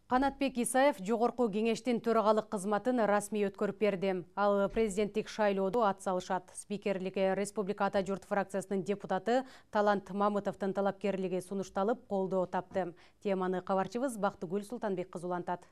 Канатбек Исаев жогорку кеңештин төрагалык кызматын расмий өткөрүп берди. Ал президенттик шайлоодо ат салышат. Спикерликке Республика Ата журт фракциясынын депутаты Талант Мамытовдун талапкерлиги сунушталып, колдоо тапты. Теманы кабарчыбыз Бактыгүл Султанбек кызы улантат.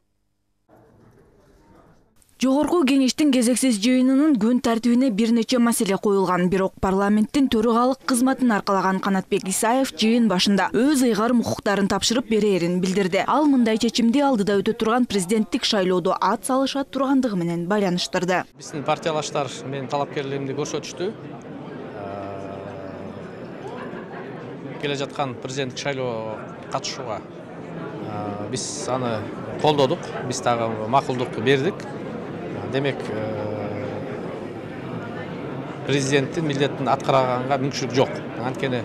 Жогорку кеңештин кезексиз жыйынынын күн тартибине бир нече маселе коюлган. Бирок парламенттин төрагалык кызматын аркалаган Канатбек Исаев жыйын башында өз ыйгарым укуктарын тапшырып берерин билдирди. Ал мындай чечимди алдыда өтө турган президенттик шайлоодо ат салышат тургандыгы менен байланыштырды. Биздин партиялаштар менин талапкерлигимди көрсөтүштү. Келе жаткан президенттик шайлоого катышууга биз аны колдодук. Биз дагы макулдук бердик. Демек, президенттин милдетин аткарганга мүмкүнчүлүк жок. Анткени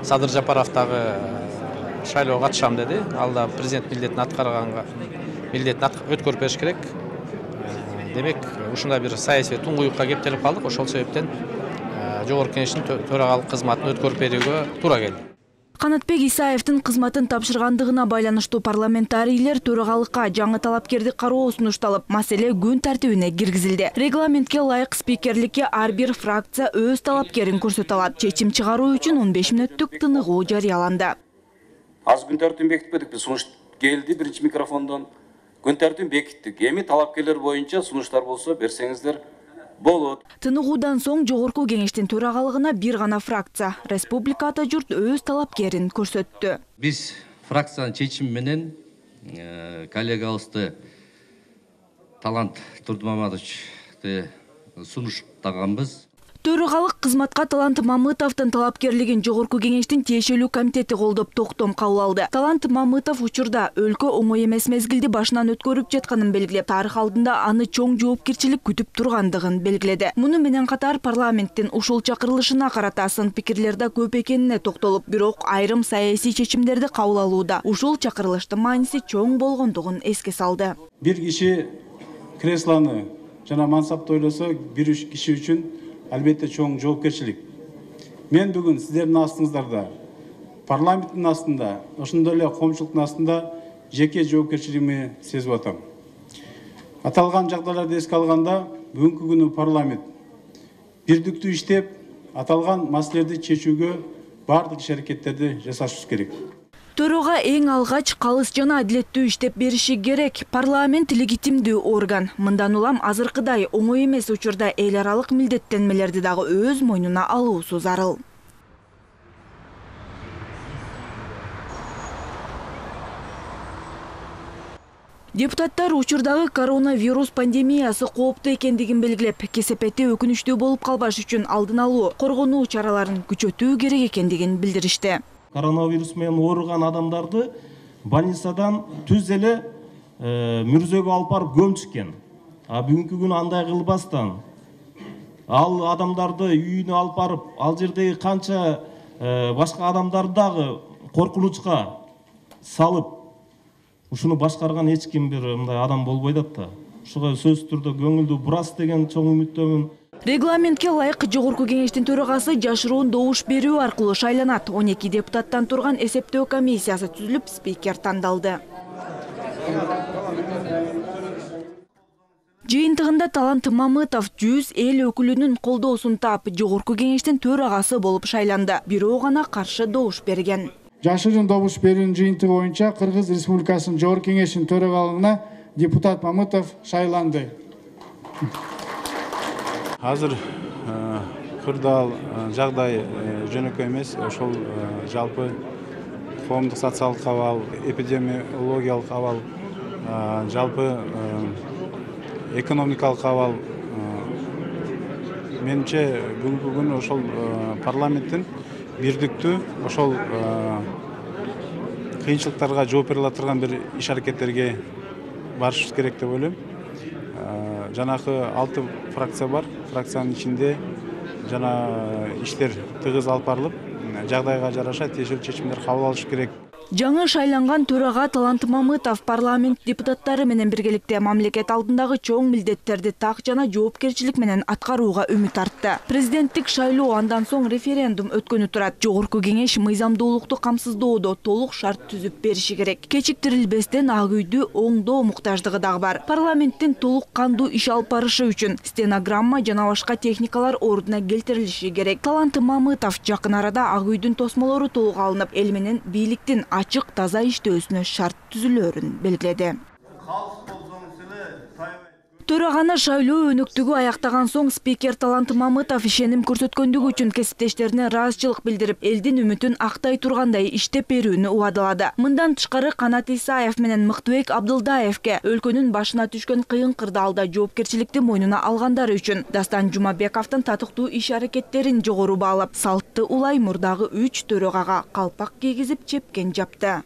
Садыр Жапаров дагы шайлоого катышам деди. Ал да президент милдетин аткарганга өткөрүп бериш керек. Демек, ушундай бир саясий туңгуюкка кептелип калдык. Ошол себептен жогорку кеңештин төрагалык кызматын өткөрүп берүүгө туура келди. Канатбек Исаевдин кызматын тапшыргандыгына байланыштуу парламентарийлер төрагалыкка жаңы талапкерди кароо сунушталып, маселе күн тартибине киргизилди. Регламентке ылайык спикерликке ар бир фракция өз талапкерин көрсөтө алат. Чечим чыгаруу үчүн 15 мүнөттүк тыныгуу жарыяланды. Аз күн тартибин бекитпедик, сунуш келди биринчи микрофондон. Күн тартибин бекиттик. Эми талапкерлер боюнча сунуштар болсо берсеңиздер болот. Тыныгуудан соң жогорку кеңештин төрагалыгына бир гана фракция Республика Ата журт өз талапкерин көрсөттү. Биз фракциянын чечими менен коллегабызды Талант Турдумаматовичти сунуштаганбыз. Төрагалык кызматка Талант Мамытовдун талапкерлигин жогорку кеңештин тиешелүү комитети колдоп токтом кабыл алды. Талант Мамытов учурда өлкө оңой эмес мезгилди башынан өткөрүп жатканын белгилеп, тарых алдында аны чоң жоопкерчилик күтүп тургандыгын белгиледи. Муну менен катар парламенттин ушул чакырылышына карата сын пикирлер да көп экенине токтолуп, бирок айрым саясий чечимдерди кабыл алууда ушул чакырылыштын мааниси чоң болгондугун эске салды. Бир киши креслону жана мансапты ойлосо, бир киши үчүн албетте чоң жоопкерчилик. Мен бүгүн сиздердин астыңыздарда, парламенттин астында, ошондой эле коомчулуктун астында жеке жоопкерчилигимди сезип атам. Аталган жагдайларды эске алганда, бүгүнкү күнү парламент бирдиктүү иштеп, аталган маселелерди чечүүгө бардык иш-аракеттерди жасашыбыз керек. Төрага эң алгач калыс жана адилеттүү иштеп бериши керек. Парламент легитимдүү орган. Мындан улам азыркыдай оңой эмес учурда эл аралык милдеттенмелерди дагы өз мойнуна алуусу зарыл. Депутаттар учурдагы коронавирус пандемиясы кооптуу экендигин белгилеп, кесепети өкүнүчтүү болуп калбаш үчүн алдын алуу, коргонуу чараларын күчөтүү керек экендигин билдиришти. Коронавирус менен ооруган адамдарды больницадан түз эле мүрзөгө алып барып көмүшкөн. Бүгүнкү күнү андай кылбастан ал адамдарды үйүнө алып барып, ал жердеги канча башка адамдарды дагы коркунучка салып, ушуну башкарган эч ким бир мындай адам болбойт да. Ушуга сөзсүз түрдө көңүлдү бурас деген чоң үмүттөмүн. Регламентке ылайык жогорку кеңештин төрагасы жашыруун добуш берүү аркылуу шайланат. 12 депутаттан турган эсептөө комиссиясы түзүлүп, спикер тандалды. Жыйынтыгында Талант Мамытов 100 эл өкүлүнүн колдоосун таап, жогорку кеңештин төрагасы болуп шайланды. Бирөө гана каршы добуш берген. Жашыруун добуш берүүнүн жыйынтыгы боюнча Кыргыз Республикасынын жогорку кеңештин төрагалыгына депутат Мамытов шайланды. Азыр кырдаал жагдай жөнөкөй эмес, ошол жалпы коомдук социалдык абал, эпидемиологиялык абал, жалпы экономикалык абал. Менимче бүгүнкү күнү ошол парламенттин бирдиктүү ошол кыйынчылыктарга жооп бере ала турган бир иш-аракеттерге барышыбыз керек деп ойлойм. Жанагы 6 фракция бар. Фракциянын ичинде жана иштер тыгыз алып барылып, жагдайга жараша тиешелүү чечимдер кабыл алыш керек. Жаңы шайланган төрага Талант Мамытов парламент депутаттары менен биргеликте мамлекет алдындагы чоң милдеттерди так жана жоопкерчилик менен аткарууга үмүт артты. Президенттик шайлоо андан соң референдум өткөнү турат. Жогорку кеңеш мыйзамдуулукту камсыздоодо толук шарт түзүп бериши керек. Кечиктирилбестен Ак үйдү оңдоо муктаждыгы дагы бар. Парламенттин толук кандуу иш алып барышы үчүн стенограмма жана башка техникалар ордуна келтирилиши керек. Талант Мамытов жакын арада Ак үйдүн тосмолору толук алынып, эл менен бийликтин ачык таза иштөөсүнө шарт түзүлөөрүн белгиледи. Төраганы шайлоо өнөктүгү аяктаган соң спикер Талант Мамытов ишеним көрсөткөндүгү үчүн кесиптештерине ыраазычылык билдирип, элдин үмүтүн актай тургандай иштеп берүүнү убадалады. Мындан тышкары Канат Исаев менен Мыктыбек Абдылдаевке өлкөнүн башына түшкөн кыйын кырдаалда жоопкерчиликти мойнуна алгандары үчүн Дастан Жумабековдун татыктуу иш аракеттерин жогору баалап, салтты улай мурдагы 3 төрагага калпак кийгизип чепкен жапты.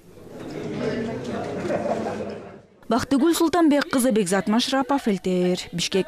Бактыгүл Султанбек кызы, Бекзат Машрапов, ЛТР, Бишкек.